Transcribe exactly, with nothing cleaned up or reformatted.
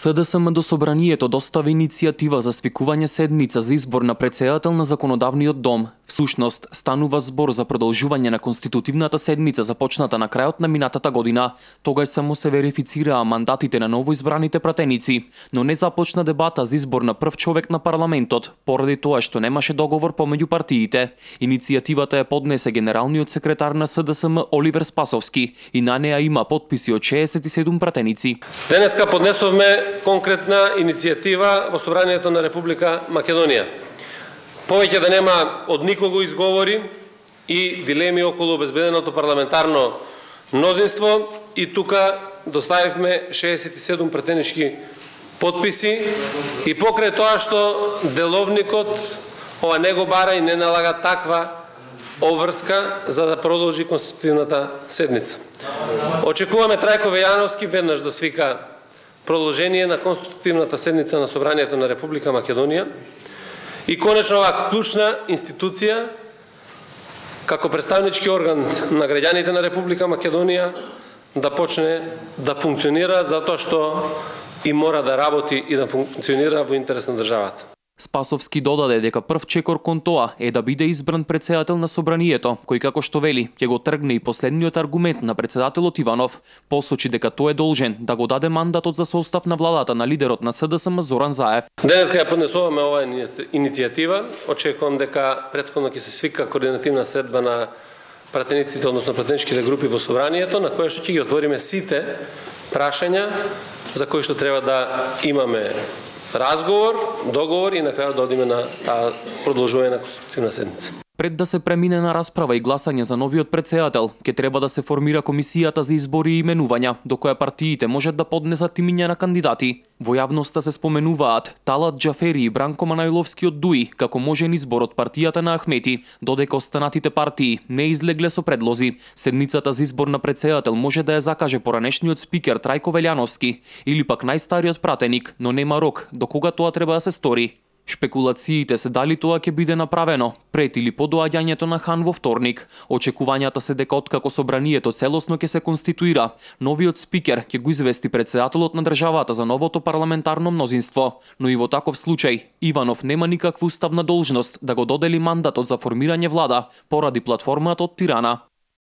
СДСМ до Собранието достави иницијатива за свикување седница за избор на претседател на Законодавниот дом. Всушност, станува збор за продолжување на конститутивната седница започната на крајот на минатата година. Тогаш само се верифицираа мандатите на новоизбраните пратеници, но не започна дебата за избор на прв човек на парламентот, поради тоа што немаше договор помеѓу партиите. Иницијативата ја поднесе генералниот секретар на СДСМ Оливер Спасовски и на неа има потписи од шеесет и седум пратеници. Денеска поднесовме конкретна иницијатива во Собранието на Република Македонија. Повеќе да нема од никого изговори и дилеми околу обезбеденото парламентарно мнозинство, и тука доставивме шеесет и седум пратенички потписи, и покрај тоа што деловникот ова не го бара и не налага таква обврска за да продолжи конститутивната седница. Очекуваме Трајко Вејановски веднаш да свика продолжение на конститутивната седница на Собранието на Република Македонија и конечно оваа клучна институција како представнички орган на граѓаните на Република Македонија да почне да функционира, затоа што и мора да работи и да функционира во интерес на државата. Спасовски додаде дека прв чекор кон тоа е да биде избран претседател на Собранието, кој како што вели ќе го тргне и последниот аргумент на претседателот Иванов. Посочи дека тој е должен да го даде мандатот за состав на владата на лидерот на СДСМ Зоран Заев. Денеска ја поднесуваме оваа иницијатива. Очекувам дека претходно ќе се свика координативна средба на пратениците, односно пратеничките групи во Собранието, на која што ќе ги отвориме сите прашања за кои што треба да имаме разговор, договор и на крајот да одиме на таа продолжување на конститутивна седница. Пред да се премине на расправа и гласање за новиот претседател, ќе треба да се формира комисијата за избори и именувања, до која партиите можат да поднесат имиња на кандидати. Во јавноста се споменуваат Талат Џафери и Бранко Манајловски од ДУИ како можен избор од партијата на Ахмети, додека останатите партии не излегле со предлози. Седницата за избор на претседател може да ја закаже поранешниот спикер Трајко Велјановски или пак најстариот пратеник, но нема рок до кога тоа треба да се стори. Шпекулациите се дали тоа ќе биде направено пред или по доаѓањето на хан во вторник. Очекувањата се дека откако Собранието целосно ќе се конституира, новиот спикер ќе го извести претседателот на државата за новото парламентарно мнозинство. Но и во таков случај, Иванов нема никаква уставна должност да го додели мандатот за формирање влада поради платформата од Тирана.